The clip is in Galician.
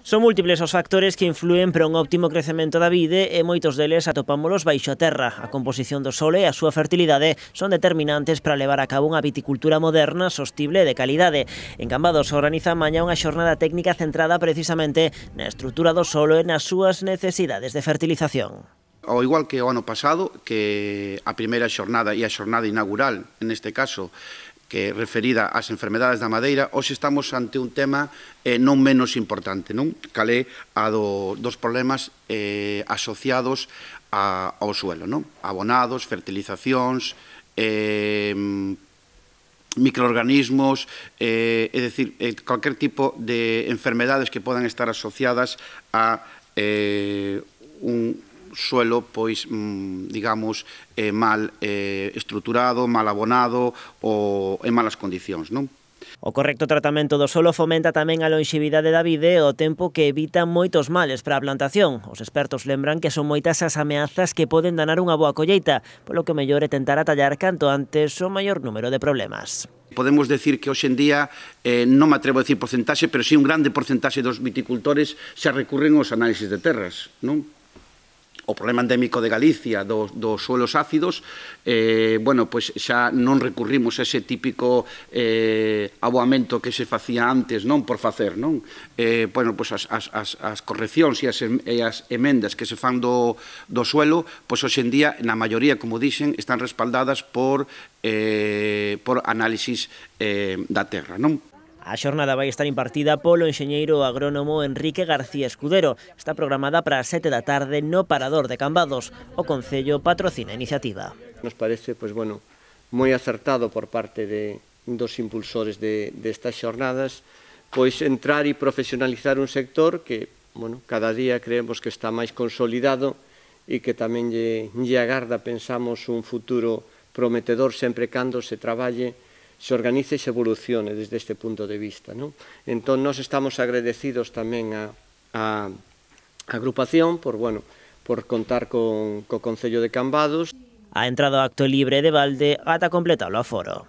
Son múltiples os factores que influen para un óptimo crecemento da vide e moitos deles atopámolos baixo a terra. A composición do solo e a súa fertilidade son determinantes para levar a cabo unha viticultura moderna, sostible e de calidade. En Cambados organiza mañá unha xornada técnica centrada precisamente na estrutura do solo e nas súas necesidades de fertilización. Ao igual que o ano pasado, que a primeira xornada e a xornada inaugural, neste caso, que referida ás enfermedades da madeira, hoxe estamos ante un tema non menos importante, non? Cal é a dos problemas asociados ao suelo, non? Abonados, fertilizacións, microorganismos, é dicir, calquer tipo de enfermedades que podan estar asociadas a un suelo, pois, digamos, mal estruturado, mal abonado ou en malas condicións, non? O correcto tratamento do solo fomenta tamén a longevidade da vide e o tempo que evita moitos males para a plantación. Os expertos lembran que son moitas as ameazas que poden danar unha boa colleita, polo que o mellor é tentar atallar canto antes o maior número de problemas. Podemos decir que hoxe en día, non me atrevo a decir porcentaxe, pero sí un grande porcentaxe dos viticultores xa recurren aos análisis de terras, non? O problema endémico de Galicia dos suelos ácidos, bueno, pois xa non recurrimos a ese típico aboamento que se facía antes, non por facer, non? Bueno, pois as correccións e as emendas que se fan do suelo, pois hoxe en día, na maioría, como dixen, están respaldadas por análisis da terra, non? A xornada vai estar impartida polo enxeñeiro agrónomo Enrique García Escudero. Está programada para as 7 da tarde no Parador de Cambados. O Concello patrocina a iniciativa. Nos parece, pois, bueno, moi acertado por parte dos impulsores destas xornadas, pois entrar e profesionalizar un sector que, bueno, cada día creemos que está máis consolidado e que tamén lle agarda, pensamos, un futuro prometedor sempre cando se traballe, se organice e se evolucione desde este punto de vista, non? Entón, nós estamos agradecidos tamén á agrupación por contar co Concello de Cambados. A entrada ao acto libre de balde ata completar o aforo.